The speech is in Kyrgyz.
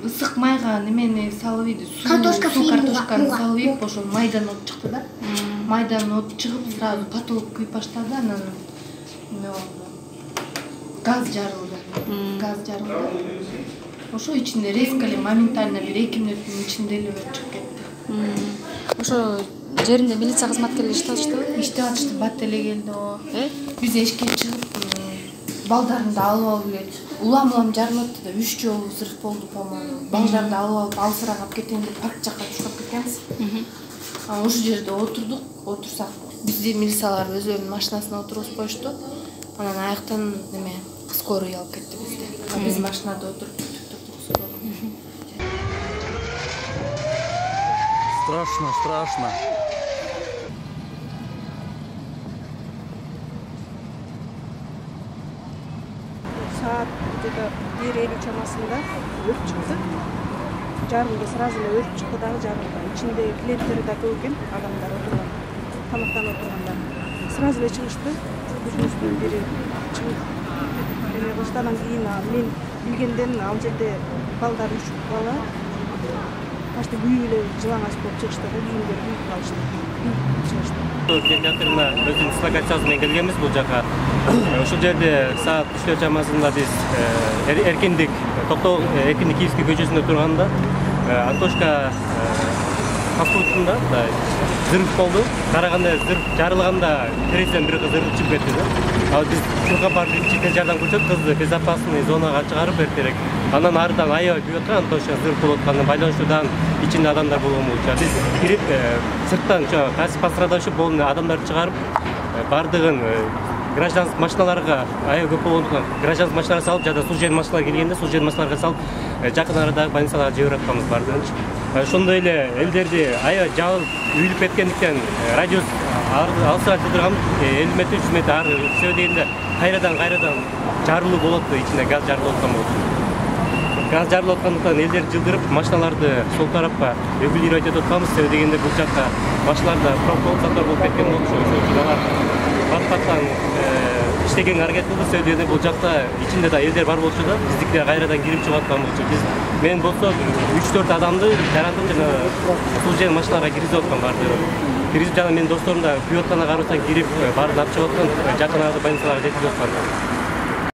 Ысык майга немени салып ийди, картошканы салып ийип, ошол майдан от чыкты да. Майдан от чыгып, сразу потолок күйүп баштады, анан газ жарылды. Ошо ичинде резко эле моментально бир 2 мүнөттүн ичинде эле өрт чыгып кетти. Ошо жеринде милиция кызматкерлери иштеп атышты? Иштеп атышты, бат эле келди. Биз эшикке чыгып, балдарымды алып эле улам жарылып атты да, 3 жолу взрыв болду, по-моему. Балдарды алып алысыраак алып кетейин деп парк жакка чыгып кеткенбиз. Ошол жерде отурсак, бизди милициялар өзүлөрүнүн машинасына отургузуп коюшту. Анан аяктан скорый алып кетти бизди. Биз машинада отуруп Страшно. Saat где-то 1:50 чамасында өрт чыкты. Жарылды, сразу эле өрт чыкты дагы жарылды. Ичинде клиенттер да көп экен, адамдар отурган, тамактанып отургандар. Сразу эле чыгышты. Жүзүбүздүн бири чыгып эме кылышты. Анан кийин мен билгенден ал жерде балдар 3 бала почти күйүп эле жылаңач болуп чыгышты да, кийимдери күйүп калышты. Театрына өзүнүн дислокациясы менен келгенбиз бул жака. Ошол жерде саат 3 чамасында биз эркиндик Киевский көчөсүндө турганда Антошка фастфудунда взрыв болду. Караганда взрыв жарылганда терезеден бир кыз ыргып чыгып кетти да. Ал биз чурга барып жедел жардам көрсөтүп, кызды безопасный зонага чыгарып берип керек. Анан арыдан аябай күйүп аткан, Антошка взрыв болуп атканына байланыштуу ичинде адамдар болгон болчу. Биз кирип сырттан пострадавший болгон адамдарды чыгарып, бардыгын гражданский машиналарга аябай көп болгондуктан гражданский машиналарга салып, жада служебный машиналар келгенде служебный машиналарга салып, жакын арадагы больницаларга жиберип атканбыз бардыгынчы. Ошондой эле элдерди аябай жабылып үйүлүп кеткендиктен радиус алысыраак турган 50 метр 300 метр ары сөө дегенде кайрадан жарылуу болот, ичинде газ жарылып аткан болчу. Газ жарылып аткандыктан элдерди жылдырып, машиналарды сол тарапка регулировать этип атканбыз. Сөө дегенде бул жакка машиналарда пропол болуп кеткен болчу. Ошол үчүн алар бат-баттан иштегенге аракет кылды. Сөө дегенде бул жакта ичинде да элдер бар болчу да, биздикилер кайрадан кирип чыгып аткан болчу. Мен болсо 3-4 адамды жарандым жана служебный машиналарга киргизип аткан барды. Киргизип жана менин досторум да күйүп атканына карабастан кирип баарын алып чыгып аткан, жакын арада больницаларга жеткизип аткан.